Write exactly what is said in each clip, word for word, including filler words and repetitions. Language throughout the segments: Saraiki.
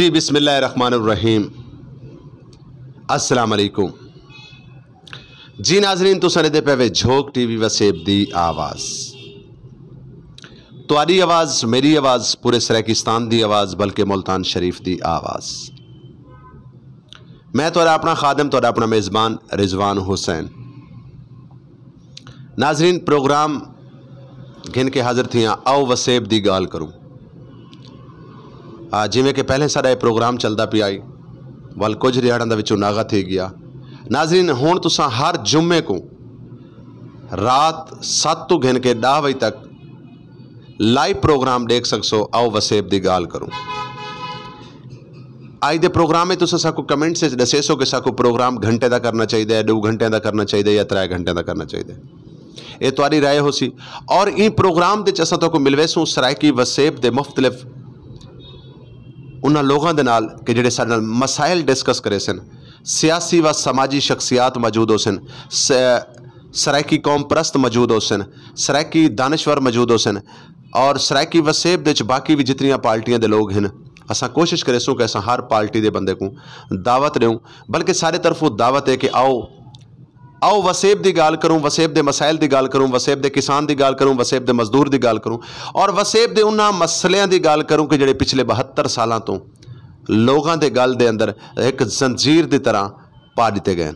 جی، بسم اللہ الرحمن الرحیم۔ السلام علیکم۔ جی ناظرین، تساں ݙیہدے پئے وے جھوک ٹی وی وسیب دی آواز۔ تہاݙی آواز، میݙی آواز، پورے سرائیکستان دی آواز، بلکہ ملتان شریف دی آواز۔ میں تہاݙا اپݨا خادم، تہاݙا اپݨا میزبان رضوان حسین۔ ناظرین، پروگرام گھن کے حاضر تھیاں، آؤ وسیب دی ڳالھ کروں۔ آ، جیویں کہ پہلے ساݙا اے پروگرام چلدا پیا ہئی، ول کجھ ݙیہاڑاں دا وچوں ناغہ تھی ڳیا۔ ناظرین، ہݨ تساں ہر جمعے کوں رات ست توں گھن کے ݙاہ وڄے تک لائیو پروگرام ݙیکھ سڳسو، آؤ وسیب دی ڳالھ کروں۔ اڄ دے پروگرام وچ تساں ساکوں کمنٹس وچ ݙسیسو کہ ساکوں پروگرام گھنٹے دا کرنا چاہیدا ہے، ݙو گھنٹے دا کرنا چاہیدا ہے یا ترے گھنٹے دا کرنا چاہیدا ہے۔ اے تہاݙی رائے ہوسی۔ اور ایں پروگرام دے وچ اساں تہاکوں ملویسوں سرائیکی وسیب دے مختلف انہاں لوگاں دے نال کہ جڑے ساݙے نال مسائل ڈسکس کریسن۔ سیاسی و سماجی شخصیات موجود ہوسن، س-، سرائیکی قوم پرست موجود ہوسن، سرائیکی دانشور موجود ہوسن، اور سرائیکی وسیب دے وچ باقی وی جتنیاں پارٹیاں دے لوگ ہن، اساں کوشش کریسوں کہ اساں ہر پارٹی دے بندے کوں دعوت ݙیوں، بلکہ ساݙے طرفوں دعوت ہے کہ آؤ، آؤ وسیب دی ڳالھ کروں، وسیب دے مسائل دی ڳالھ کروں، وسیب دے کسان دی ڳالھ کروں، وسیب دے مزدور دی ڳالھ کروں، اور وسیب دے انہاں مسئلیاں دی ڳالھ کروں کہ جڑے پچھلے بہتر سالاں توں لوگاں دے ڳل دے اندر ہک زنجیر دی طرح پا ݙتے ڳئے ہن۔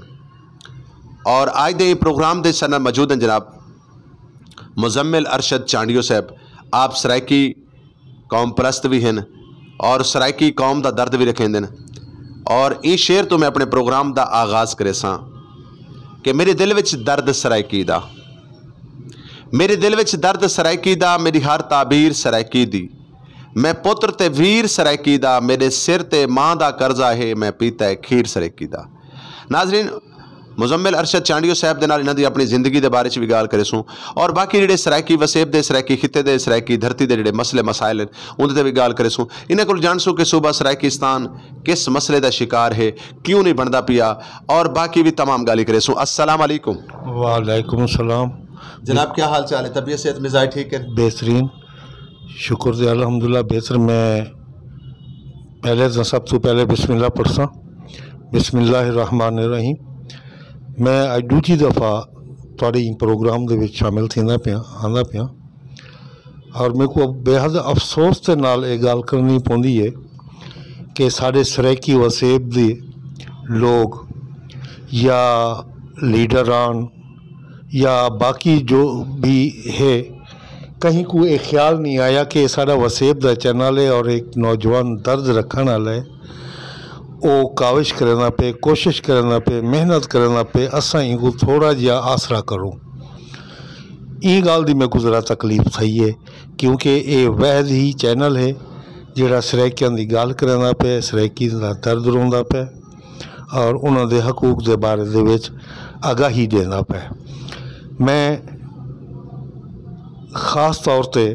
اور اڄ دے ایں پروگرام دے ساݙے نال موجود ہن جناب مزمل ارشد چانڈیو صاحب۔ آپ سرائیکی قوم پرست وی ہن اور سرائیکی قوم دا درد وی رکھیندن۔ اور ایں شعر توں میں اپݨے پروگرام دا آغاز کریساں کہ میݙے دل وچ درد سرائیکی دا، میݙے دل وچ درد سرائیکی دا، میݙی ہر تعبیر سرائیکی دی، میں پتر تے ویر سرائیکی دا، میݙے سر تے ماں دا قرضہ ہے، میں پیتا ہے کھیر سرائیکی دا۔ ناظرین، مزمل ارشد چانڈیو صاحب دے نال انہاں دی اپݨی زندگی دے بارے چ وی ڳالھ کریسوں، اور باقی جڑے سرائیکی وسیب دے، سرائیکی خطے دے، سرائیکی دھرتی دے جڑے مسئلے مسائل ہن، اوندے تے وی ڳالھ کریسوں۔ انہاں کول ڄاݨسوں کہ صوبہ سرائیکستان کس مسئلے دا شکار ہے، کیوں نہیں بݨدا پیا، اور باقی وی تمام ڳالھیں کریسوں۔ السلام علیکم۔ وعلیکم السلام۔ جناب، کیا حال چال ہے؟ طبیعت، صحت، مزاج ٹھیک ہے؟ بہترین، شکر دے، الحمدللہ بہتر۔ میں پہلے تاں سب توں پہلے بسم اللہ پڑھساں۔ بسم اللہ الرحمن الرحیم۔ میں اڄ ݙوجھی دفعہ تہاݙے ایں پروگرام دے وچ شامل تھیندا پیاں، آندا پیاں، اور میکوں بے حد افسوس دے نال اے ڳالھ کرݨی پوندی ہے کہ ساݙے سرائیکی وسیب دے لوگ یا لیڈران یا باقی جو بھی ہے، کہیں کوں اے خیال نہیں آیا کہ اے ساݙا وسیب دا چینل ہے اور ایک نوجوان درد رکھݨ والا ہے۔ او کاوش کریندا پئے، کوشش کریندا پئے، محنت کریندا پئے، اساں اینکوں تھوڑا جیہا آسرا کروں۔ ایں ڳالھ دی میکوں ذرا تکلیف تھئی ہے، کیونکہ اے واحد ہی چینل ہے جیڑھا سرائیکیاں دی ڳالھ کریندا پئے، سرائیکیاں دا درد روندا پئے اور انہاں دے حقوق دے بارے دے وچ آگاہی ݙیندا پئے۔ میں خاص طور تے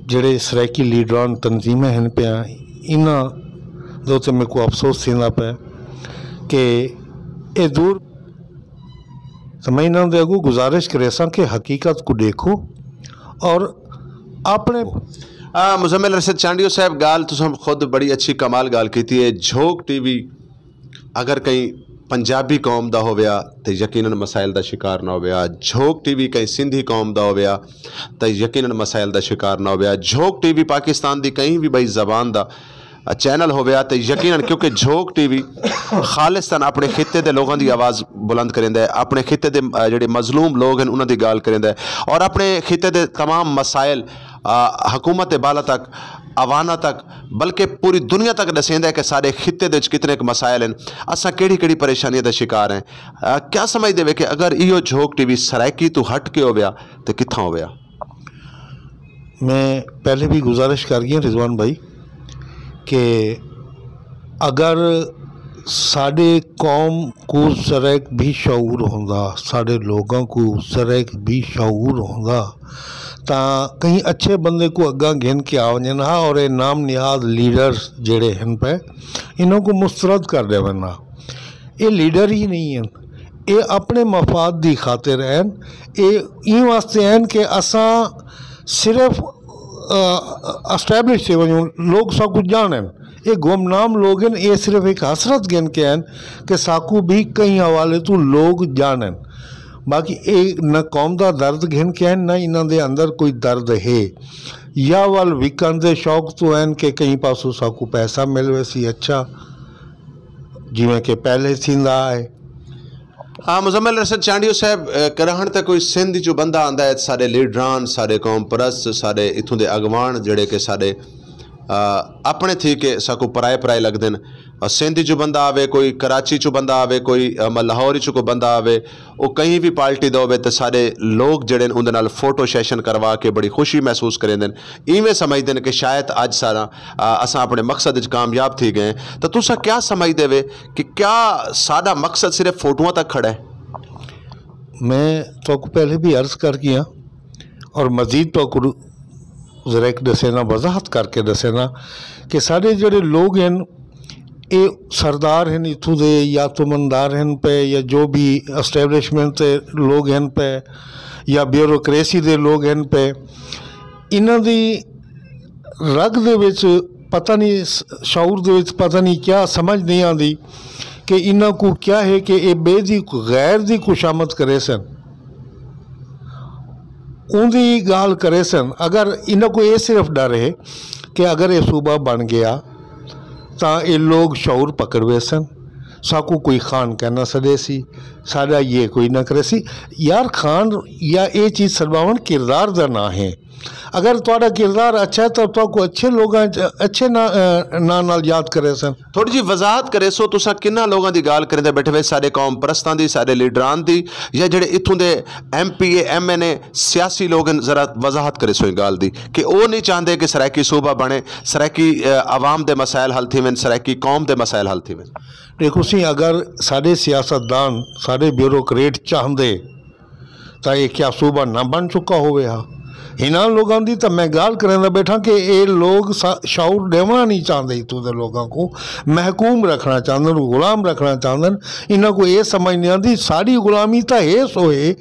جڑے سرائیکی لیڈران تنظیمیں ہن پیاں، انہاں دے اتے میکوں افسوس تھیندا پئے کہ اے دور، تو میں انہاں دے اگوں گزارش کریساں کہ حقیقت کوں ݙیکھو اور اپݨے آ، مزمل ارشد چانڈیو صاحب، ڳالھ تساں خود بڑی اچھی کمال ڳالھ کیتی ہے۔ جھوک ٹی وی اگر کہیں پنجابی قوم دا ہوویا تے یقیناً مسائل دا شکار نہ ہوویا۔ جھوک ٹی وی کہیں سندھی قوم دا ہوویا تے یقیناً مسائل دا شکار نہ ہوویا۔ جھوک ٹی وی پاکستان دی کہیں وی ٻئی زبان دا چینل ہوویا تے یقیناً، کیونکہ جھوک ٹی وی خالصتاً اپݨے خطے دے لوگاں دی آواز بلند کریندا ہے، اپݨے خطے دے، آ، جڑے مظلوم لوگ ہن انہاں دی ڳالھ کریندا ہے، اور اپݨے خطے دے تمام مسائل، آ، حکومت بالا تک، عوانہ تک، بلکہ پوری دنیا تک ݙسیندا ہے کہ ساݙے خطے دے وچ کتنے ک مسائل ہن، اساں کیڑھی کیڑھی پریشانیاں دا شکار ہیں۔ آ، کیا سمجھدے وے کہ اگر ایہو جھوک ٹی وی سرائیکی توں ہٹ کے ہوویا تے کتھاں ہوویا؟ میں پہلے بھی گزارش کر گیا رضوان بھائی کہ اگر ساݙے قوم کوں ذرا ک بھی شعور ہوندا، ساݙے لوگاں کوں ذرا ک بھی شعور ہوندا، تاں کہیں اچھے بندے کوں اڳاں گھن کے آ ونڄن ہا اور اے نام نہاد لیڈرز جڑے ہن پئے، انہاں کوں مسترد کر ݙیون ہا۔ اے لیڈر ہی نہیں ہن، اے اپݨے مفاد دی خاطر ہن۔ اے ایں واسطے ہن کہ اساں صرف، آ، اسٹیبلش تھی ونڄوں، لوگ سب کچھ ڄاݨن۔ اے گمنام لوگ ہن، اے صرف ہک حسرت گھن کے ہن کہ ساکوں بھی کہیں حوالے توں لوگ ڄاݨن۔ باقی اے نہ قوم دا درد گھن کے ہن، نہ انہاں دے اندر کوئی درد ہے۔ یا ول وکݨ دے شوق توں ہن کہ کہیں پاسوں ساکوں پیسہ مل ویسی۔ اچھا، جیویں کہ پہلے تھیندا آئے۔ ہاں، مزمل ارشد چانڈیو صاحب، اے، کراہݨ تے کوئی سندھ چوں بندہ آندا ہے، ساݙے لیڈران، ساݙے قوم پرست، ساݙے اتھوں دے اڳواݨ جیڑھے کہ ساݙے، آ، اپݨے تھی کے ساکوں پرائے پرائے لڳدن۔ آ، سندھ چوں بندہ آوے، کوئی کراچی چوں بندہ آوے، کوئی، آ، م-، لاہور چوں کوئی بندہ آوے، او کہیں وی پارٹی دا ہووے تے ساݙے لوگ جیڑھے ہن اوندے نال فوٹو سیشن کروا کے بڑی خوشی محسوس کریندن۔ ایویں سمجھدن کہ شاید اڄ سارا، آ، اساں اپݨے مقصد وچ کامیاب تھی ڳئے ہیں۔ تاں تساں کیا سمجھدے وے کہ کیا ساݙا مقصد صرف فوٹواں تک کھڑا ہے؟ میں تہاکوں پہلے بھی عرض کر گیا اور مزید تہاکوں ذرا ہک ݙسینا، وضاحت کر کے ݙسینا کہ ساݙے جیڑھے لوگ ہن، اے سردار ہن اتھوں دے یا تمندار ہن پئے یا جو بھی اسٹیبلشمنٹ دے لوگ ہن پئے یا بیوروکریسی دے لوگ ہن پئے، انہاں دی رڳ دے وچ پتہ نہیں، س-، شعور دے وچ پتہ نہیں کیا سمجھ نہیں آندی کہ انہاں کوں کیا ہے کہ اے ٻئے دی، غیر دی خوشامد کریسن، اوندی ڳالھ کریسن۔ اگر انہاں کوں اے صرف ݙر ہے کہ اگر اے صوبہ بݨ ڳیا تاں اے لوگ شعور پکڑ ویسن، ساکوں کوئی خان کائنا سݙیسی، ساݙا یہ کوئی نہ کریسی۔ یار، خان یا اے چیز سݙواوݨ کردار دا ناں ہے۔ اگر تہاݙا کردار اچھا ہے تاں تہاکوں اچھے لوگاں اچ، اچھے ناں، ناں نال یاد کریسن۔ تھوڑی جی وضاحت کریسو، تساں کنہاں لوگاں دی ڳالھ کریندے ٻیٹھے وے؟ ساݙے قوم پرستاں دی، ساݙے لیڈران دی، یا جیڑھے اتھوں دے ایم پی اے، ایم این اے، سیاسی لوگ ہن؟ ذرا وضاحت کریسو ایں ڳالھ دی کہ او نہیں چاہندے کہ سرائیکی صوبہ بݨے، سرائیکی، آ، عوام دے مسائل حل تھیون، سرائیکی قوم دے مسائل حل تھیون۔ ݙیکھو سئیں، اگر ساݙے سیاستدان، ساݙے بیوروکریٹ چاہندے تاں اے کیا صوبہ نہ بݨ چکا ہووے ہا؟ انہاں لوگاں دی تاں میں ڳالھ کریندا ٻیٹھاں کہ اے لوگ سا-، شعور ݙیوݨا نہیں چاہندے، اتھوں دے لوگاں کوں محکوم رکھݨا چاہندن، غلام رکھݨا چاہندن۔ انہاں کوں اے سمجھ نہیں آندی، ساݙی غلامی تاں ہے سو ہے،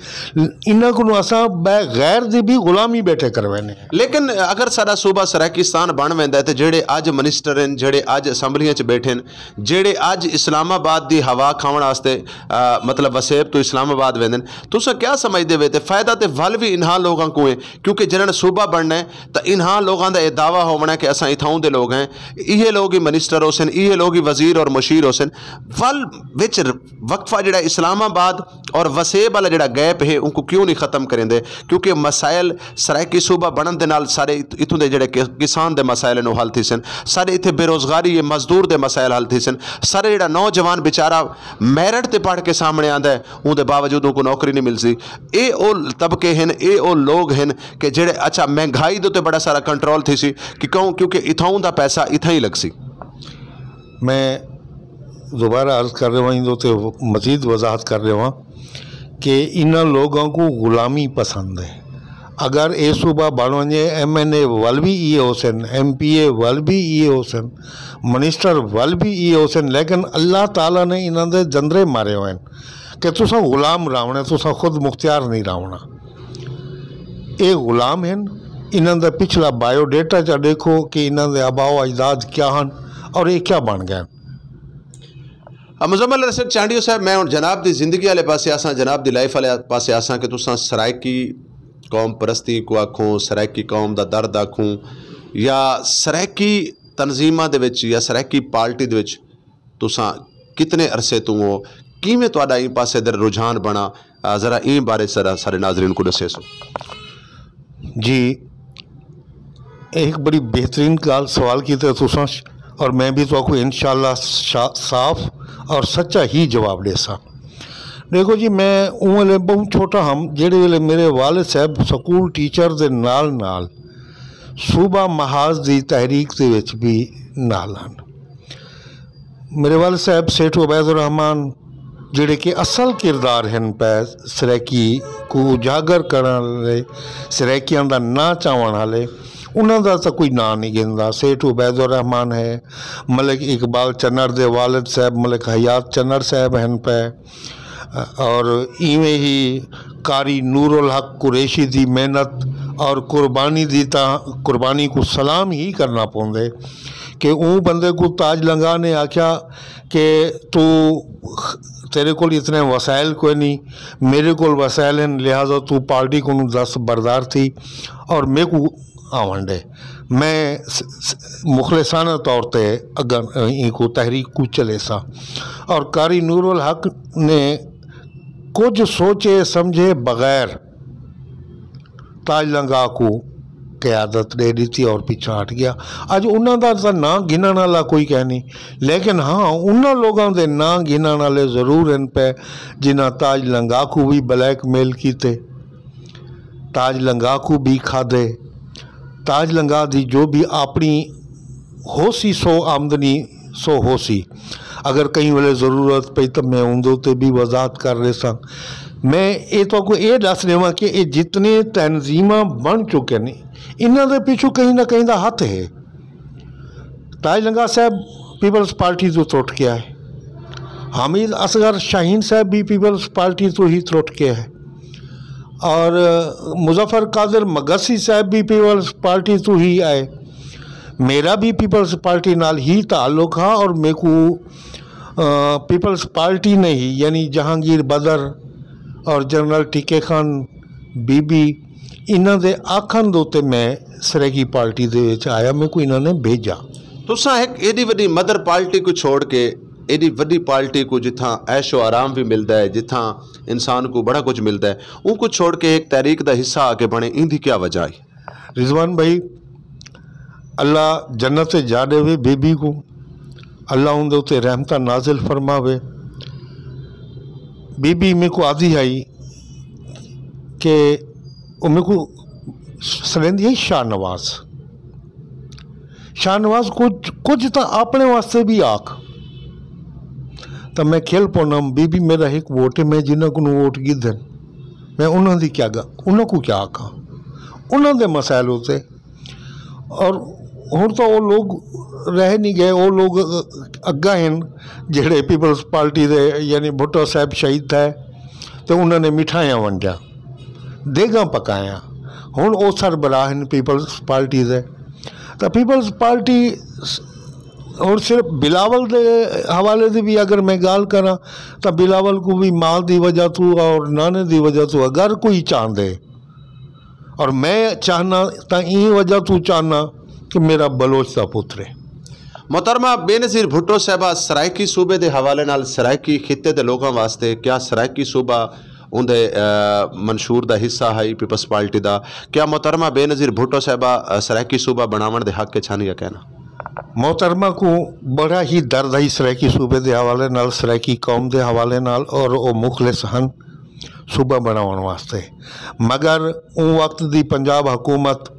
انہاں کوں اساں بغیر دی بھی غلامی ٻیٹھے کروینے۔ لیکن اگر ساݙا صوبہ سرائیکستان بݨ ویندا ہے تے جیڑھے اڄ منسٹر ہن، جیڑھے اڄ اسمبلیاں چ ٻیٹھے ہن، جیڑھے اڄ اسلام آباد دی ہوا کھاوݨ واسطے، آ، مطلب وسیب توں اسلام آباد ویندن، تساں کیا سمجھدے وے؟ تے فائدہ تے ول وی انہاں لوگاں کوں ہے، کیونکہ جنہاں نے صوبہ بݨنا ہے تاں انہاں لوگاں دا اے دعویٰ ہووݨا ہے کہ اساں اتھاؤں دے لوگ ہیں، ایہے لوگ ہی منسٹر ہوسن، ایہے لوگ ہی وزیر اور مشیر ہوسن۔ ول وچ وقفہ جیڑھا اسلام آباد اور وسیب والا جیڑھا گیپ ہے، اونکوں کیوں نہیں ختم کریندے؟ کیونکہ مسائل سرائیکی صوبہ بݨݨ دے نال سارے ات-، اتھوں دے جیڑھے ک-، کسان دے مسائل ہن، او حل تھیسن۔ سارے اتھے بے روزگاری ہے، مزدور دے مسائل حل تھیسن۔ سارے جیڑھا نوجوان بیچارہ میرٹ تے پڑھ کے سامݨے آندا ہے، اوں دے باوجود اونکوں نوکری نہیں ملسی۔ اے او طبقے ہن، اے او لوگ ہن کہ جیڑھے، اچھا، مہنگائی دے تے بڑا سارا کنٹرول تھیسی، کہ کیوں؟ کیونکہ اتھاؤں دا پیسہ اتھاں ہی لڳسی۔ میں دوبارہ عرض کر رہا ہوں، ایندے تے مزید وضاحت کر رہا ہوں کہ انہاں لوگاں کوں غلامی پسند ہے۔ اگر اے صوبہ بݨ ونڄے، ایم این اے ول وی ایہے ہوسن، ایم پی اے ول وی ایہے ہوسن، منسٹر ول وی ایہے ہوسن، لیکن اللہ تعالیٰ نے انہاں دے جندرے مارے ہوئے ہن کہ تساں غلام راہوݨے، تساں خود مختیار نہیں راہوݨا۔ اے غلام ہن، انہاں دا پچھلا بائیو ڈیٹا چا ݙیکھو کہ انہاں دے آباء و اجداد کیا ہن اور اے کیا بݨ ڳئے ہن۔ آ، مزمل ارشد چانڈیو صاحب، میں ہݨ جناب دی زندگی والے پاسے آساں، جناب دی لائف والے پاسے آساں کہ تساں سرائیکی قوم پرستی کوں آکھوں، سرائیکی قوم دا درد آکھوں، یا سرائیکی تنظیماں دے وچ یا سرائیکی پارٹی دے وچ تساں کتنے عرصے توں ہو؟ کیویں تہاݙا ایں پاسے در رجحان بݨا؟ آ، ذرا ایں بارے ذرا سارے ناظرین کوں ݙسیسو۔ جی، اے ہک بڑی بہترین ڳالھ سوال کیتے تساں، اور میں بھی تہاکوں انشاءاللہ شا-، صاف اور سچا ہی جواب ݙیساں۔ ݙیکھو جی، میں اوں ویلے ٻہوں چھوٹا ہم، جیڑھے ویلے میرے والد صاحب سکول ٹیچر دے نال نال صوبہ محاذ دی تحریک دے وچ بھی نال ہن۔ میرے والد صاحب سیٹھ عبید الرحمن، جیڑھے کہ اصل کردار ہن پئے سرائیکی کوں اجاگر کرݨ والے، سرائیکیاں دا ناں چاوݨ والے، انہاں دا تاں کوئی ناں نہیں گھندا۔ سیٹھ عبید الرحمن ہے، ملک اقبال چنڑ دے والد صاحب ملک حیات چنڑ صاحب ہن پئے، اور ایویں ہی قاری نور الحق قریشی دی محنت اور قربانی دی تاں قربانی کوں سلام ہی کرݨا پوندے۔ کہ اوں بندے کوں تاج لنگا نے آکھیا کہ تو، تیرے کول اتنے وسائل کوئی نہیں، میرے کول وسائل ہیں، لہذا تو پارٹی کوں دست بردار تھی اور میکوں آون ݙے۔ میں س- س- مخلصانہ طور تے اگاں ایں کوں تحریک کوں چلیساں۔ اور قاری نور الحق نے کجھ سوچے سمجھے بغیر تاج لنگا کوں قیادت ݙے ݙتی اور پچھاں ہٹ ڳیا۔ اڄ انہاں دا تاں ناں گھنݨ والا کوئی کائنی، لیکن ہاں، انہاں لوکاں دے ناں گھنݨ والے ضرور ہن پئے جنہاں تاج لنگا کوں وی بلیک میل کیتے، تاج لنگا کوں وی کھادے۔ تاج لنگا دی جو وی اپݨی ہوسی سو آمدنی سو ہوسی۔ اگر کہیں ویلے ضرورت پئی تاں میں اوندے اتے وی وضاحت کر ݙیساں۔ میں اے تہاکوں اے ݙس ݙیواں کہ اے جتنے تنظیماں بݨ چکے نے، انہاں دے پچھوں کہیں نہ کہیں دا ہتھ ہے۔ تاج لنگا صاحب پیپلز پارٹی توں ترٹ ڳیا ہے، حمید اصغر شاہین صاحب وی پیپلز پارٹی توں ہی ترٹ ڳیا ہے، اور مظفر قادر مگسی صاحب وی پیپلز پارٹی توں ہی آئے۔ میرا وی پیپلز پارٹی نال ہی تعلق ہا اور میکوں، آ، پیپلز پارٹی نے ہی، یعنی جہانگیر بدر اور جنرل ٹکے خان بی بی، انہاں دے آکھݨ دے اتے میں سرائیکی پارٹی دے وچ آیا، میکوں انہاں نے بھیجا۔ تساں ہک ایݙی وݙی مدر پارٹی کوں چھوڑ کے، ایݙی وݙی پارٹی کوں جتھاں عیش و آرام وی ملدا ہے، جتھاں انسان کوں بڑا کجھ ملدا ہے، اوں کوں چھوڑ کے ہک تحریک دا حصہ آ کے بݨے، ایندی کیا وجہ ہئی؟ رضوان بھائی، اللہ جنت جا ݙیوے بی بی کوں، اللہ اوندے اتے رحمتاں نازل فرماوے۔ بی بی میکوں آہدی ہئی کہ او میکوں سݙیندی ہئی شاہ نواز۔ شاہ نواز، کجھ، کجھ تاں اپݨے واسطے وی آکھ۔ تاں میں کھل پونم، بی بی میݙا ہک ووٹ ہے، میں جنہاں کنوں ووٹ گھدن، میں انہاں دی کیا گا-، انہاں کوں کیا آکھاں؟ انہاں دے مسائل ہوتے۔ اور ہݨ تاں او لوگ رہ نہیں ڳئے، او لوگ اڳاں ہن جیڑھے پیپلز پارٹی دے، یعنی بھٹو صاحب شہید تھئے تے انہاں نے مٹھائیاں ونڈیاں، دیگاں پکائیاں۔ ہݨ او سربراہ ہن پیپلز پارٹی دے۔ تاں پیپلز پارٹی س-، ہݨ صرف بلاول دے حوالے دی وی اگر میں ڳالھ کراں تاں بلاول کوں وی ماء دی وجہ توں اور نانے دی وجہ توں اگر کوئی چاہندے، اور میں چاہنا تاں ایں وجہ توں چاہنا کہ میݙا بلوچ دا پتر ہے۔ محترمہ بینظیر بھٹو صاحبہ، سرائیکی صوبے دے حوالے نال، سرائیکی خطے دے لوکاں واسطے کیا سرائیکی صوبہ اوندے، آ، منشور دا حصہ ہئی پیپلز پارٹی دا؟ کیا محترمہ بینظیر بھٹو صاحبہ، آ، سرائیکی صوبہ بݨاوݨ دے حق اچ ہن یا کائنا؟ محترمہ کوں بڑا ہی درد ہئی سرائیکی صوبے دے حوالے نال، سرائیکی قوم دے حوالے نال، اور او مخلص ہن صوبہ بݨاوݨ واسطے، مگر اوں وقت دی پنجاب حکومت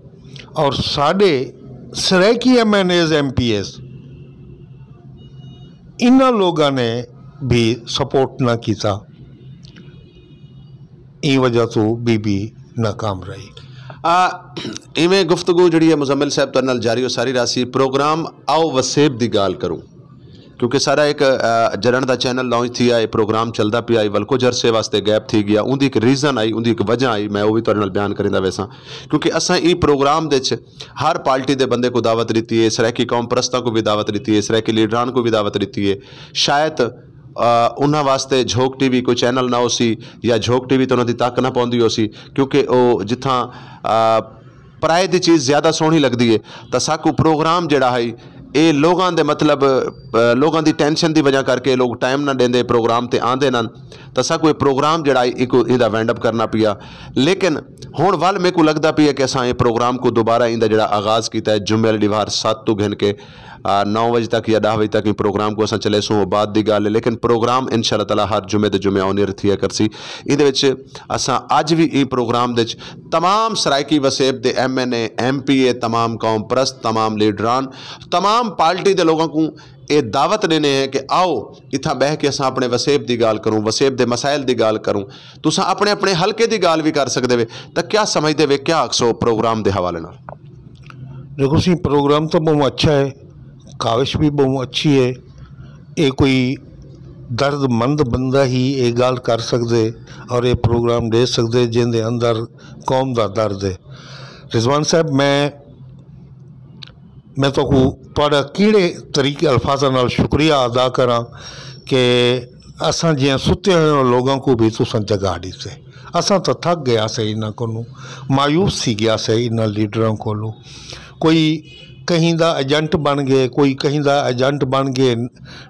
اور ساݙے Saraiki M N As, M P As, انہاں لوگاں نے بھی سپورٹ نہ کیتا، ایں وجہ توں بی بی ناکام رہی۔ آ، ایویں گفتگو جڑی ہے مزمل صاحب تہاݙے نال جاری و ساری رہسی۔ پروگرام آؤ وسیب دی ڳالھ کروں، کیونکہ سارا ایک، آ، جلݨ دا چینل لانچ تھیا، اے پروگرام چلدا پیا ہئی، ول کجھ عرصے واسطے گیپ تھی ڳیا۔ اوندی ایک ریزن ہئی، اوندی ایک وجہ ہئی، میں او وی تہاݙے نال بیان کریندا ویساں، کیونکہ اساں ایں پروگرام دے وچ ہر پارٹی دے بندے کوں دعوت ݙتی ہے، سرائیکی قوم پرستاں کوں وی دعوت ݙتی ہے، سرائیکی لیڈران کوں وی دعوت ݙتی ہے۔ شاید، آ، انہاں واسطے جھوک ٹی وی کوئی چینل نہ ہوسی یا جھوک ٹی وی تے انہاں دی تک نہ پوندی ہوسی، کیونکہ او جتھاں، آ، پرائے دی چیز زیادہ سوہݨی لڳدی ہے، تاں ساکوں پروگرام جیڑھا ہئی، اے لوگاں دے مطلب، آ، لوگاں دی ٹینشن دی وجہ کر کے لوگ ٹائم نہ ݙیندے، پروگرام تے آندے نن، تاں ساکوں اے پروگرام جیڑھا ہئی، ایکوں ایندا وائنڈ اپ کرنا پیا۔ لیکن ہݨ ول میکوں لڳدا پیا کہ اساں اے پروگرام کوں دوبارہ ایندا جیڑھا آغاز کیتا ہے، جمعے آلی ݙیہاڑ ست توں گھن کے، آ، نو وجے تک یا ݙاہ وجے تک ایں پروگرام کوں اساں چلیسوں، او بعد دی ڳالھ ہے، لیکن پروگرام ان شاء اللہ تعالیٰ ہر جمعے دے جمعے آن ایئر تھیا کرسی۔ ایندے وچ اساں اڄ وی ایں پروگرام دے وچ تمام سرائیکی وسیب دے ایم این اے، ایم پی اے، تمام قوم پرست، تمام لیڈران، تمام پارٹی دے لوگاں کوں اے دعوت ݙیندے ہیں کہ آؤ، اتھاں ٻہہ کے اساں اپݨے وسیب دی ڳالھ کروں، وسیب دے مسائل دی ڳالھ کروں۔ تساں اپݨے اپݨے حلقے دی ڳالھ وی کر سڳدے وے، تاں کیا سمجھدے وے، کیا آکھسو پروگرام دے حوالے نال؟ ݙیکھو سئیں، پروگرام تاں ٻہوں اچھا ہے، کاوش وی ٻہوں اچھی ہے۔ اے کوئی درد مند بندہ ہی اے ڳالھ کر سڳدے اور اے پروگرام ݙے سڳدے جیندے اندر قوم دا درد ہے۔ رضوان صاحب، میں میں تہاکوں تہاݙا کیڑھے طریقے الفاظاں نال شکریہ ادا کراں کہ اساں جیہاں ستے ہوئے لوگاں کوں بھی تساں جگا ݙتے۔ اساں تاں تھک ڳئے ہاسے انہاں کولوں، مایوس تھی ڳئے ہاسے انہاں لیڈراں کولوں۔ کوئی کہیں دا ایجنٹ بݨ ڳئے، کوئی کہیں دا ایجنٹ بݨ ڳئے،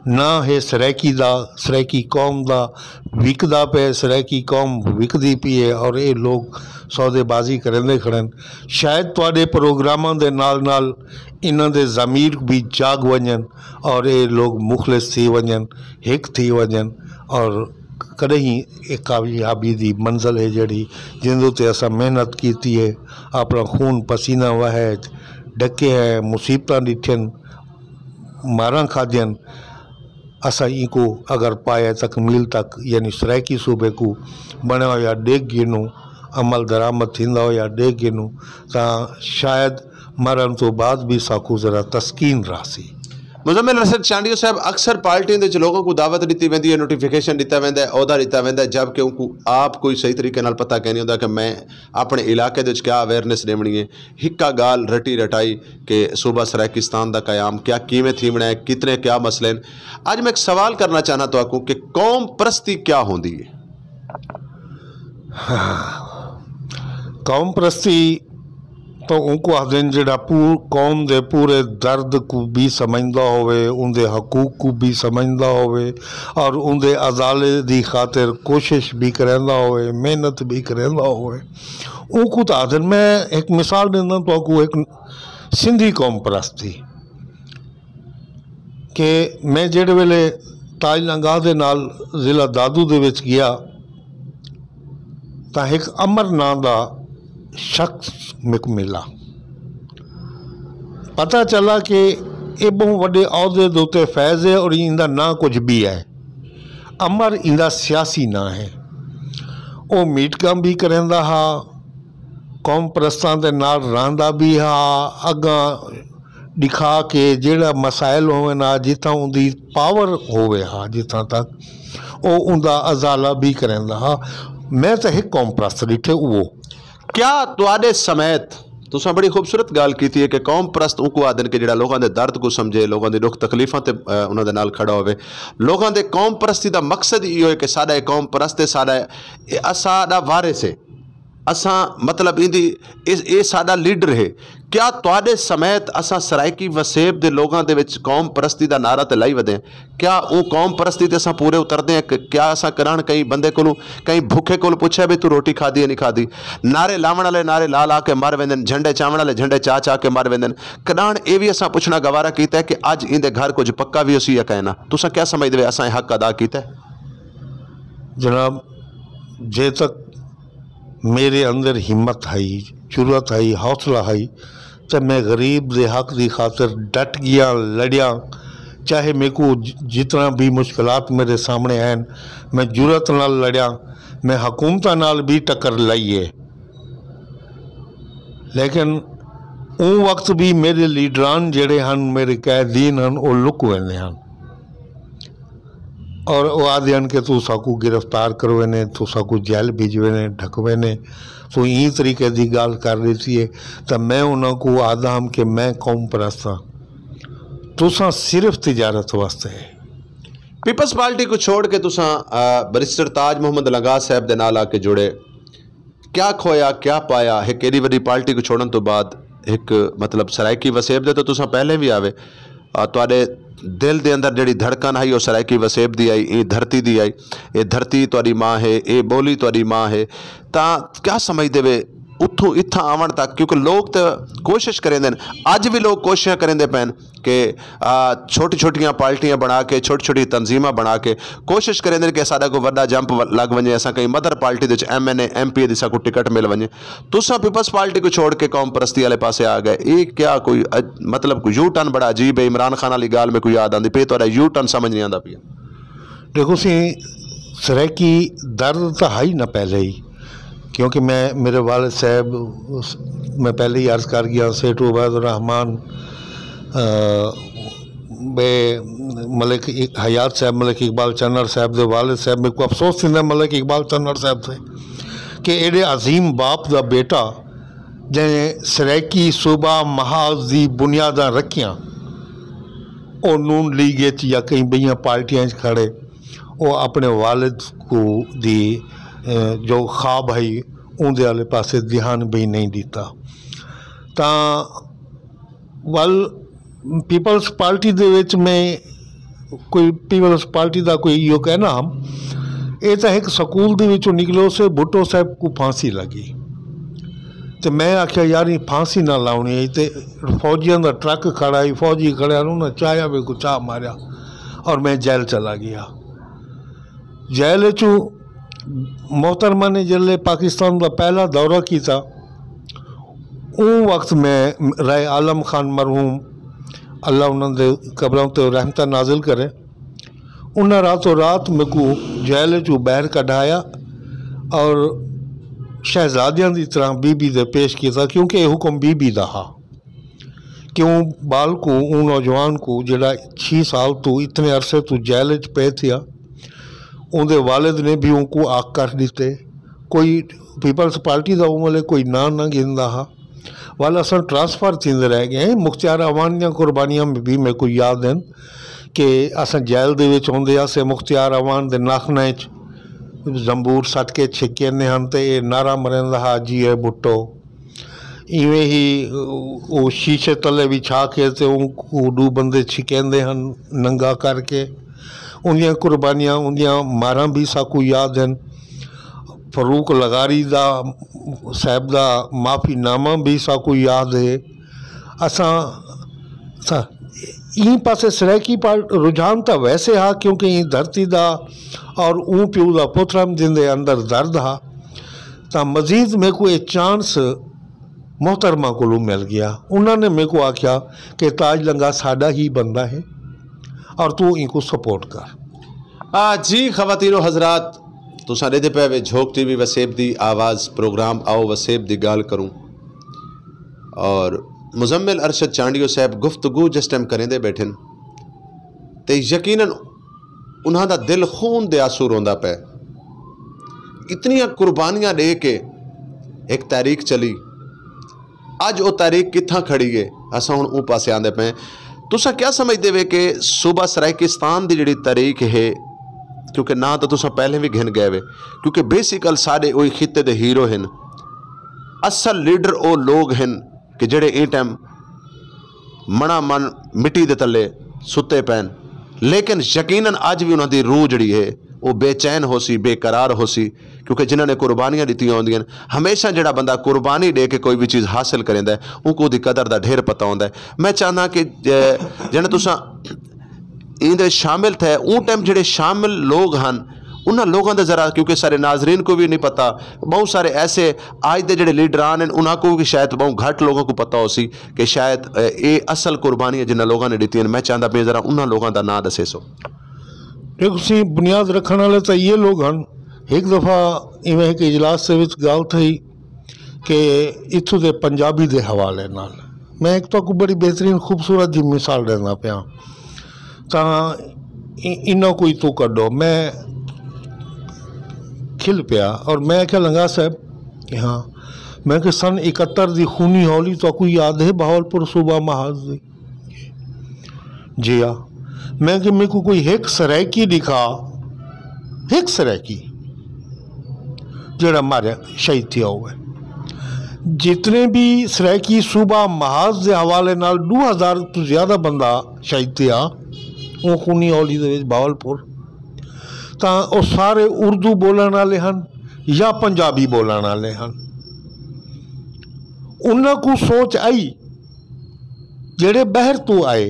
نہ ہے سرائیکی دا، سرائیکی قوم دا وکدا پئے، سرائیکی قوم وکدی پئی ہے اور اے لوگ سودے بازی کریندے کھڑن۔ شاید تہاݙے پروگراماں دے نال نال انہاں دے ضمیر بھی جاگ ونڄن اور اے لوگ مخلص تھی ونڄن، ہک تھی ونڄن اور کݙاہیں اے کامیابی دی منزل ہے جیڑھی جیندے تے اساں محنت کیتی ہے، اپݨا خون پسینہ وہائے، ݙکے ہیں، مصیبتاں ݙٹھن، ماراں کھادین، اساں اینکوں اگر پایہ تکمیل تک یعنی سرائیکی صوبے کوں بݨیا ہویا ݙیکھ گھنوں، عمل درآمد تھیندا ہویا ݙیکھ گھنوں تاں شاید مرݨ توں بعد بھی ساکوں ذرا تسکین رہسی۔ مزمل ارشد چانڈیو صاحب، اکثر پارٹیاں دے وچ لوگاں کوں دعوت ݙتی ویندی ہے، نوٹیفکیشن ݙتا ویندا ہے، عہدہ ݙتا ویندا ہے، جبکہ اونکوں آپ کوئی صحیح طریقے نال پتہ کائنی ہوندا کہ میں اپݨے علاقے دے وچ کیا اویئرنیس ݙیوݨی ہے۔ ہکا ڳالھ رٹی رٹائی کہ صوبہ سرائیکستان دا قیام کیا کیویں تھیوݨا ہے، کتنے کیا مسئلے ہن۔ اڄ میں ہک سوال کرݨا چاہنداں تہاکوں کہ قوم پرستی کیا ہوندی ہے؟ قوم پرستی تاں اونکوں آہدن جیڑھا پور قوم دے پورے درد کوں بھی سمجھدا ہووے، اوندے حقوق کوں بھی سمجھدا ہووے اور اوندے ازالے دی خاطر کوشش بھی کریندا ہووے، محنت بھی کریندا ہووے۔ اونکوں تاں آہدن، میں ہک مثال ݙینداں تہاکوں، ہک سندھی قوم پرست دی کہ میں جیڑھے ویلے تاج لنگاہ دے نال ضلع دادو دے وچ ڳیا تاں ہک امر ناں دا شخص میکوں ملا۔ پتہ چلا کہ اے ٻہوں وݙے عہدے دے اتے فائز ہے اور ایندا ناں کجھ ٻیا ہے۔ امر ایندا سیاسی ناں ہے۔ او میٹنگاں بھی کریندا ہا، قوم پرستاں دے نال رہندا بھی ہا، اڳاں ݙکھا کے جیڑھا مسائل ہوون ہا، جتھاں اوندی پاور ہووے ہا، جتھاں تک او اوندا ازالہ بھی کریندا ہا۔ میں تاں ہک قوم پرست ݙٹھے، اوہو۔ کیا تہاݙے سمیت، تساں بڑی خوبصورت ڳالھ کیتی ہے کہ قوم پرست اونکوں آہدن کہ جیڑھا لوکاں دے درد کوں سمجھے، لوکاں دی ݙکھ تکلیفاں تے، اے، انہاں دے نال کھڑا ہووے۔ لوکاں دے قوم پرستی دا مقصد ایہو ہے کہ ساݙا اے قوم پرست ہے، ساݙا اے، اے اساݙا وارث ہے۔ اساں مطلب ایندی، اے، اے ساݙا لیڈر ہے۔ کیا تہاݙے سمیت اساں سرائیکی وسیب دے لوگاں دے وچ قوم پرستی دا نعرہ تے لائی ودے ہیں؟ کیا اوں قوم پرستی تے اساں پورے اتردے ہیں کہ کیا اساں کݙاہݨ کہیں بندے کولوں، کہیں بھکھے کولوں پچھے بھئی توں روٹی کھادی یا نہیں کھادی؟ نعرے لاوݨ والے نعرے لا لا کے مر ویندن، جھنڈے چاوݨ والے جھنڈے چا چا کے مر ویندن۔ کݙاہݨ اے وی اساں پچھݨا گوارا کیتا ہے کہ اڄ ایندے گھر کجھ پکا وی ہوسی یا کائنا؟ تساں کیا سمجھدے وے اساں اے حق ادا کیتا ہے؟ جناب، جے تک میرے اندر ہمت ہئی، جرات ہئی، حوصلہ ہئی، تے میں غریب دے حق دی خاطر ڈٹ ڳیاں، لڑیاں۔ چاہے میکوں ج-، جتنا بھی مشکلات میرے سامنے آئن، میں جرات نال لڑیاں، میں حکومتاں نال بھی ٹکر لائی ہے۔ لیکن اوں وقت بھی میرے لیڈران جڑے ہن، میرے قائدین ہن، او لک ویندے ہن۔ اور او آہدے ہن کہ توں ساکوں گرفتار کروینے، توں ساکوں جیل بھیجوینے، ڈھکوینے، توں ایں طریقے دی ڳالھ کر ݙتی ہے۔ تاں میں انہاں کوں آہدا ہم کہ میں قوم پرست ہاں، تساں صرف تجارت واسطے ہے۔ پیپلز پارٹی کوں چھوڑ کے تساں، آ، بیرسٹر تاج محمد لنگاہ صاحب دے نال آ کے جڑے، کیا کھویا، کیا پایا؟ ہک ایݙی وݙی پارٹی کوں چھوڑݨ توں بعد ہک، مطلب، سرائیکی وسیب دے تاں تساں پہلے وی آوے، آ، تہاݙے دل دے اندر جیڑھی دھڑکن ہئی، او سرائیکی وسیب دی ہئی، ایں دھرتی دی ہئی۔ اے دھرتی تہاݙی ماں ہے، اے ٻولی تہاݙی ماں ہے۔ تاں کیا سمجھدے وے اتھوں اتھاں آوݨ تک؟ کیونکہ لوگ تاں کوشش کریندے ہن، اڄ وی لوگ کوششاں کریندے پئن کہ، آ، چھوٹی چھوٹیاں پارٹیاں بݨا کے، چھوٹی چھوٹی تنظیماں بݨا کے کوشش کریندے ہن کہ ساݙا کوئی وݙا جمپ و-، لڳ ونڄے، اساں کہیں مدر پارٹی دے وچ ایم این اے، ایم پی اے دی ساکوں ٹکٹ مل ونڄے۔ تساں پیپلز پارٹی کوں چھوڑ کے قوم پرستی والے پاسے آ ڳئے۔ اے کیا کوئی اج-، مطلب، کوئی یو ٹرن بڑا عجیب ہے۔ عمران خان والی ڳالھ میکوں یاد آندی پئی، تہاݙا یو ٹرن سمجھ نہیں آندا پیا۔ ݙیکھو سی، سرائیکی درد تاں ہئی نہ پہلے ہی، کیونکہ میں، میرے والد صاحب، میں پہلے ہی عرض کر ڳیا، سیٹھ عبید الرحمان، آ، ٻئے ملک حیات صاحب، ملک اقبال چنڑ صاحب دے والد صاحب، میکوں افسوس تھیندا ملک اقبال چنڑ صاحب تے کہ ایݙے عظیم باپ دا بیٹا جیں سرائیکی صوبہ محاذ دی بنیاداں رکھیاں، او نون لیگ اچ یا کئی ٻئیاں پارٹیاں اچ کھڑے، او اپݨے والد کوں دی جو خواب ہئی اوندے آلے پاسے دھیان بھی نہیں ݙتا۔ تاں ول پیپلز پارٹی دے وچ میں کوئی پیپلز پارٹی دا کوئی ایہو کہنا ہم، اے تاں ہک سکول دے وچوں نکلو سے بھٹو صاحب کوں پھانسی لگی۔ تے میں آکھیا یار ایں پھانسی نہ لاونی ہئی تے فوجیاں دا ٹرک کھڑا ہئی، فوجی کھڑے ہن، انہاں چاہیا میکوں چاہ ماریا اور میں جیل چلا گیا۔ جیل اچوں محترمہ نے جلے پاکستان دا پہلا دورہ کیتا، اوں وقت میں رائے عالم خان مرحوم، اللہ انہاں دے قبراں تے رحمتاں نازل کرے، انہاں راتوں رات میکوں جیل اچوں باہر کڈھایا اور شہزادیاں دی طرح بی بی دے پیش کیتا، کیونکہ اے حکم بی بی دا ہا۔ کہ اوں ٻال کوں، اوں نوجوان کوں جیڑھا چھی سال توں اتنے عرصے توں جیل اچ پئے تھیا، اوندے والد نے بھی اونکوں آکھ کر ݙتے۔ کوئی پیپلز پارٹی دا اوں ویلے کوئی ناں نہ گھندا ہا۔ ول اساں ٹرانسفر تھیندے رہ ڳئے ہیں۔ مختیار اعوان دیاں قربانیاں بھی میکوں یاد ہن کہ اساں جیل دے وچ ہوندے ہاسے، مختیار اعوان دے ناخناں اچ زنبور سٹ کے چھکیندے ہن تے اے نعرہ مریندا ہا، جی اے بھٹو۔ ایویں ہی او شیشے تلے وچھا کے تے اوں کوں ݙو بندے چھکیندے ہن ننگا کر کے۔ اوندیاں قربانیاں، اوندیاں ماراں بھی ساکوں یاد ہن۔ فاروق لغاری دا، صاحب دا معافی نامہ بھی ساکوں یاد ہے۔ اساں، اساں ایں پاسے سرائیکی پار رجحان تاں ویسے ہا، کیونکہ ایں دھرتی دا اور اوں پیو دا پتر ہم جیندے اندر درد ہا۔ تاں مزید میکوں اے چانس محترمہ کولوں مل ڳیا۔ انہاں نے میکوں آکھیا کہ تاج لنگا ساݙا ہی بندہ ہے اور توں اینکوں سپورٹ کر۔ آ جی خواتین و حضرات، تساں ݙیہدے پئے وے جھوک ٹی وی وسیب دی آواز پروگرام آؤ وسیب دی ڳالھ کروں، اور مزمل ارشد چانڈیو صاحب گفتگو جس ٹائم کریندے ٻیٹھن تے یقیناً انہاں دا دل خون دے آنسو روندا پئے۔ اتنیاں قربانیاں ݙے کے ہک تحریک چلی، اڄ او تحریک کتھاں کھڑی ہے؟ اساں ہݨ اوں پاسے آندے پئے ہیں۔ تساں کیا سمجھدے وے کہ صوبہ سرائیکستان دی جڑی تحریک ہے، کیونکہ ناں تاں تساں پہلے وی گھن ڳئے وے، کیونکہ بیسیکل ساݙے اوہی خطے دے ہیرو ہن، اصل لیڈر او لوگ ہن کہ جڑے ایں ٹائم مݨا من مٹی دے تلے ستے پئن، لیکن یقیناً اڄ وی انہاں دی روح جڑی ہے او بے چین ہوسی، بے قرار ہوسی، کیونکہ جنہاں نے قربانیاں ݙتیاں ہوندیاں ہن، ہمیشہ جڑا بندہ قربانی ݙے کے کوئی وی چیز حاصل کریندا ہے، اونکوں اودی قدر دا ڈھیر پتہ ہوندا ہے۔ میں چاہنداں کہ ج-، جݨے تساں ایندے شامل تھئے، اوں ٹائم جڑے شامل لوگ ہن، انہاں لوگاں دے ذرا، کیونکہ سارے ناظرین کوں وی نہیں پتہ، بہوں سارے ایسے اڄ دے جڑے لیڈران ہن، انہاں کوں وی شاید بہوں گھٹ لوگاں کوں پتہ ہوسی کہ شاید، اے، اے اصل قربانی ہے جنہاں لوگاں نے ݙتی ہن۔ میں چاہندا پیاں ذرا انہاں لوگاں دا ناں ݙسیسو۔ ݙیکھو سئیں، بنیاد رکھݨ والے تاں ایہے لوگ ہن۔ ہک دفعہ ایویں ہک اجلاس دے وچ ڳالھ تھئی کہ اتھوں دے پنجابی دے حوالے نال میں ہک تہاکوں بڑی بہترین خوبصورت جی مثال ݙیندا پیاں، تاں ای-، انہاں کوں اتھوں کڈھو۔ میں کھل پیا اور میں آکھیا، لنگا صاحب، ہاں، میں کہ سن اکہتر دی خونی ہولی تہاکوں یاد ہے بہاولپور صوبہ محاذ دی؟ جی ہا۔ میں کہ میکوں کوئی ہک سرائیکی ݙکھا، ہک سرائیکی جیڑھا ماریا شہید تھیا ہووے۔ جتنے بھی سرائیکی صوبہ محاذ دے حوالے نال ݙو ہزار توں زیادہ بندہ شہید تھیا اوں خونی ہولی دے وچ بہاولپور، تاں او سارے اردو ٻولݨ والے ہن یا پنجابی ٻولݨ والے ہن۔ انہاں کوں سوچ آئی جیڑھے ٻاہر توں آئے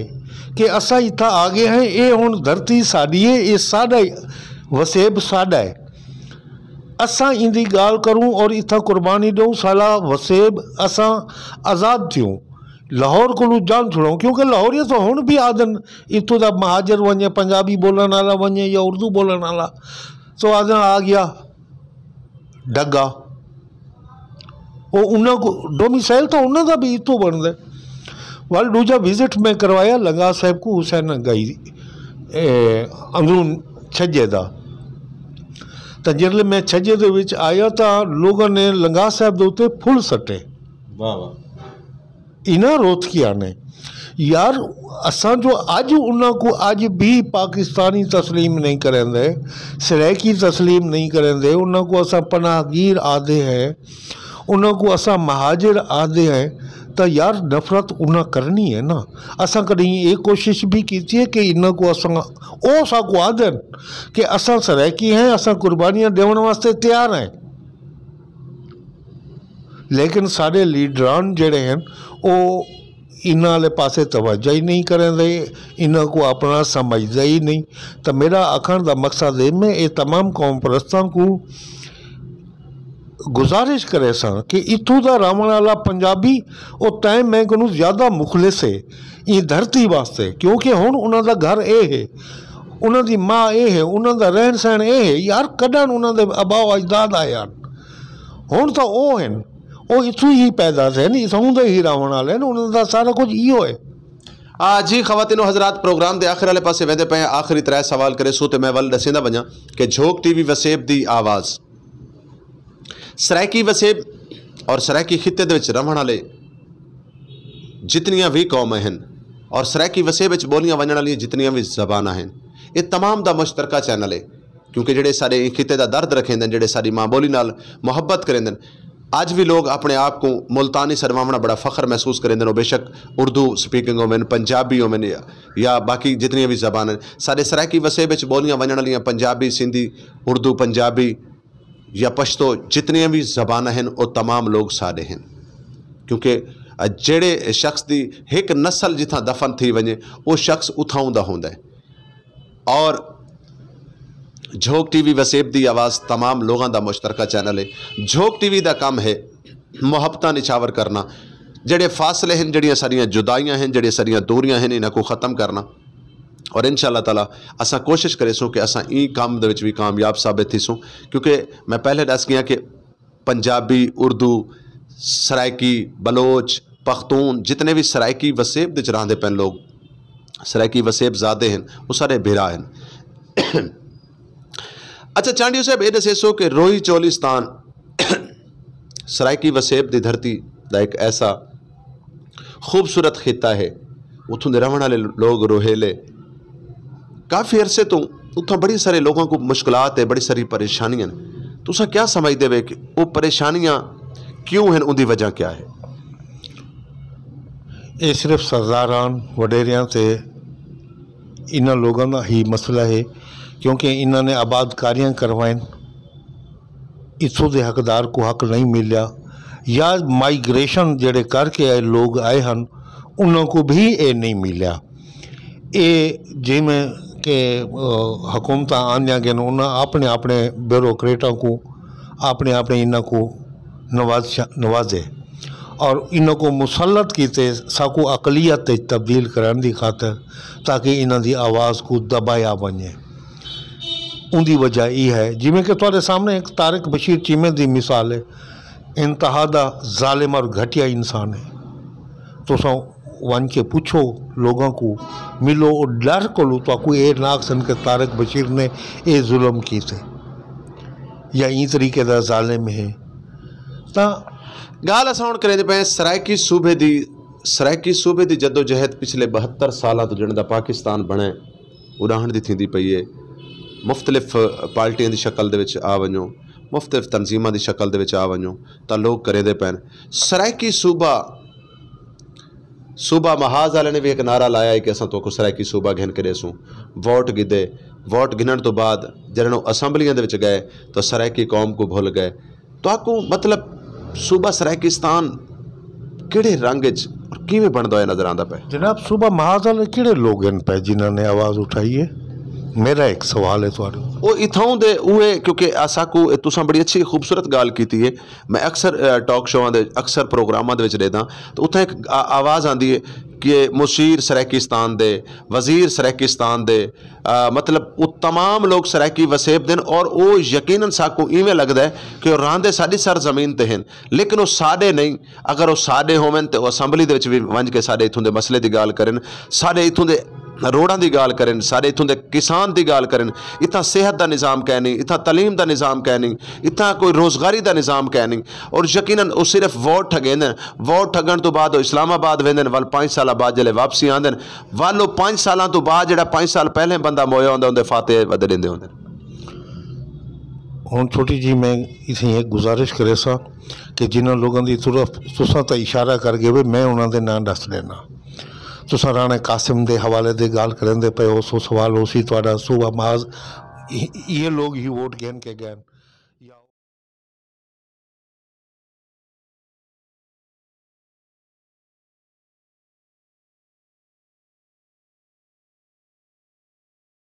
کہ اساں اتھاں آ ڳئے ہیں، اے ہݨ دھرتی ساݙی ہے، اے ساݙا وسیب ساݙا ہے، اساں ایندی ڳالھ کروں اور اتھاں قربانی ݙیوں، ساݙا وسیب اساں آزاد تھیوں، لاہور کولوں جان چھڑاؤں۔ کیونکہ لاہوریت تاں ہݨ بھی آہدن اتھوں دا مہاجر ونڄے، پنجابی ٻولݨ والا ونڄے یا اردو ٻولݨ والا، تاں آہدن آ ڳیا ڈگا۔ او انہاں کوں ڈومیسائل تاں انہاں دا بھی اتھوں بݨدے۔ ول ݙوجھا وزٹ میں کروایا لنگا صاحب کوں حسین گائی، اے، اندروں چھڄے دا۔ تاں جیڑھلے میں چھڄے دے وچ آیا تاں لوگاں نے لنگا صاحب دے اتے پھل سٹے۔ واہ واہ۔ انہاں روتھیاں نے یار، اساں جو اڄ انہاں کوں اڄ بھی پاکستانی تسلیم نہیں کریندے، سرائیکی تسلیم نہیں کریندے، انہاں کوں اساں پناہ گیر آہدے ہیں، انہاں کوں اساں مہاجر آہدے ہیں، تاں یار نفرت انہاں کرنی ہے نا۔ اساں کݙہیں اے کوشش بھی کیتی ہے کہ انہاں کوں اساں، او ساکوں آہدن کہ اساں سرائیکی ہیں، اساں قربانیاں ݙیوݨ واسطے تیار ہیں، لیکن ساݙے لیڈران جیڑھے ہن، او انہاں آلے پاسے توجہ ہی نہیں کریندے، انہاں کوں اپݨا سمجھدے ہی نہیں۔ تاں میݙا آکھݨ دا مقصد ہے، میں اے تمام قوم پرستاں کوں گزارش کریساں کہ اتھوں دا رہوݨ آلا پنجابی، او تئیں میں کنوں زیادہ مخلص ہے ایں دھرتی واسطے، کیونکہ ہݨ انہاں دا گھر اے ہے، انہاں دی ماء اے ہے، انہاں دا رہݨ سہݨ اے ہے۔ یار، کݙاں انہاں دے آبا و اجداد آئے ہن، ہݨ تاں او ہن، او اتھوں ہی پیدا تھئے ہن، اتھوں دے ہی رہوݨ آلے ہن، انہاں دا سارا کجھ ایہو ہے۔ آ جی خواتین و حضرات، پروگرام دے آخر والے پاسے ویندے پئے ہیں، آخری ترے سوال کریسوں تے میں ول ݙسیندا ونڄاں کہ جھوک ٹی وی وسیب دی آواز، سرائیکی وسیب اور سرائیکی خطے دے وچ رہوݨ والے جتنیاں وی قومیں ہن اور سرائیکی وسیب وچ ٻولیاں ونڄݨ والیاں جتنیاں وی زباناں ہن، اے تمام دا مشترکہ چینل ہے، کیونکہ جیڑھے ساݙے ایں خطے دا درد رکھیندن، جیڑھے ساݙی ماں ٻولی نال محبت کریندن، اڄ وی لوگ اپݨے آپ کوں ملتانی سݙواوݨا بڑا فخر محسوس کریندن۔ او بیشک اردو سپیکنگ ہوون، پنجابی ہوون یا، یا باقی جتنیاں وی زباناں ہن، ساݙے سرائیکی وسیب وچ ٻولیاں ونڄݨ والیاں پنجابی، سندھی، اردو، پنجابی، یا پشتو، جتنیاں وی زباناں ہن، او تمام لوگ ساݙے ہن۔ کیونکہ جیڑھے شخص دی ہک نسل جتھاں دفن تھی ونڄے، او شخص اتھاؤں دا ہوندا ہے۔ اور جھوک ٹی وی وسیب دی آواز تمام لوگاں دا مشترکہ چینل ہے۔ جھوک ٹی وی دا کم ہے محبتاں نچھاور کرنا، جیڑھے فاصلے ہن، جیڑھیاں ساݙیاں جدائیاں ہن، جیڑھیاں ساݙیاں دوریاں ہن، انہاں کوں ختم کرنا۔ اور ان شاء اللہ تعالیٰ اساں کوشش کریسوں کہ اساں ایں کم دے وچ وی کامیاب ثابت تھیسوں، کیونکہ میں پہلے ݙس ڳیاں کہ پنجابی، اردو، سرائیکی، بلوچ، پختون، جتنے وی سرائیکی وسیب دے وچ رہندے پئن لوگ، سرائیکی وسیب زادے ہن، او سارے بھرا ہن۔ اچھا چانڈیو صاحب، اے ݙسیسو کہ روہی چولستان سرائیکی وسیب دی دھرتی دا ہک ایسا خوبصورت خطہ ہے۔ اتھوں دے رہوݨ والے لوگ روہیلے کافی عرصے توں اتھاں بڑے سارے لوگاں کوں مشکلات ہے، بڑی ساری پریشانیاں ہن۔ تساں کیا سمجھدے وے کہ او پریشانیاں کیوں ہن، اوندی وجہ کیا ہے؟ اے صرف سرداراں، وݙیریاں تے انہاں لوگاں دا ہی مسئلہ ہے، کیونکہ انہاں نے آباد کاریاں کروائن، اتھوں دے حقدار کوں حق نہیں ملیا، یا مائیگریشن جیڑھے کر کے اے لوگ آئے ہن، انہاں کوں بھی اے نہیں ملیا۔ اے جیویں کہ، آ، حکومتاں آندیاں ڳئن، انہاں اپݨے اپݨے بیوروکریٹاں کوں، اپݨے اپݨے انہاں کوں نواز، نوازے اور انہاں کوں مسلط کیتے ساکوں اقلیت وچ تبدیل کرݨ دی خاطر، تاکہ انہاں دی آواز کوں دبایا ونڄے۔ اوندی وجہ ای ہے، جیویں کہ تہاݙے سامݨے ہک طارق بشیر چیمے دی مثال ہے، انتہا دا ظالم اور گھٹیا انسان ہے۔ تساں ونڄ کے پچھو لوگاں کوں، ملو، او ݙر کولوں تہاکوں اے نہ آکھسن کہ طارق بشیر نے اے ظلم کیتے یا ایں طریقے دا ظالم ہے۔ تاں ڳالھ اساں ہݨ کریندے پئے ہیں سرائیکی صوبے دی۔ سرائیکی صوبے دی جدوجہد پچھلے ٻہتر سالاں توں، جݙݨ دا پاکستان بݨے، اݙاہݨ دی تھیندی پئی ہے۔ مختلف پارٹیاں دی شکل دے وچ آ ونڄو، مختلف تنظیماں دی شکل دے وچ آ ونڄو، تاں لوگ کریندے پئن۔ سرائیکی صوبہ، صوبہ محاذ والے نے وی ہک نعرہ لایا ہے کہ اساں تہاکوں سرائیکی صوبہ گھن کے ݙیسوں۔ ووٹ گھدے، ووٹ گھنݨ توں بعد جݙݨ او اسمبلیاں دے وچ ڳئے تاں سرائیکی قوم کوں بھل ڳئے۔ تہاکوں مطلب صوبہ سرائیکستان کیڑھے رنگ اچ اور کیویں بݨدا ہویا نظر آندا پئے؟ جناب، صوبہ محاذ والے کیڑھے لوگ ہن پئے جنہاں نے آواز اٹھائی ہے؟ میرا ایک سوال ہے تہاݙے کوں۔ او اتھاؤں دے اوہے، کیونکہ اساکوں، اے تساں بڑی اچھی خوبصورت ڳالھ کیتی ہے۔ میں اکثر، اے، ٹاک شوواں دے، اکثر پروگراماں دے وچ ݙیہداں، تو اتھاں ہک آ-، آواز آندی ہے کہ مشیر سرائیکستان دے، وزیر سرائیکستان دے، آ، مطلب، او تمام لوگ سرائیکی وسیب دے ہن اور او یقیناً ساکوں ایویں لڳدا ہے کہ او رہندے ساݙی سرزمین تے ہن، لیکن او ساݙے نہیں۔ اگر او ساݙے ہوون تے او اسمبلی دے وچ وی ونڄ کے ساݙے اتھوں دے مسئلے دی ڳالھ کرن، ساݙے اتھوں دے روڈاں دی ڳالھ کرن، سارے اتھوں دے کسان دی ڳالھ کرن، اتھاں صحت دا نظام کائنی، اتھاں تعلیم دا نظام کائنی، اتھاں کوئی روزگاری دا نظام کائنی۔ اور یقیناً او صرف ووٹ ٹھڳیندن، ووٹ ٹھڳݨ توں بعد او اسلام آباد ویندن، ول پنج سالاں بعد جلے واپسی آندن، ول او پنج سالاں توں بعد جیڑھا پنج سال پہلے بندہ مویا ہوندا اوندے فاتحے ودے ݙیندے ہوندن۔ ہݨ چھوٹی جی میں اتھیں ہک گزارش کریساں کہ جنہاں لوگاں دی طرف تساں تاں اشارہ کر ڳئے وے، میں انہاں دے ناں ݙس ݙینا۔ تساں رانا قاسم دے حوالے دے ڳالھ کریندے پئے ہو، سو سوال ہوسی تہاݙا صوبہ محاذ، ایہ لوگ ہی ووٹ گھن کے ڳئن۔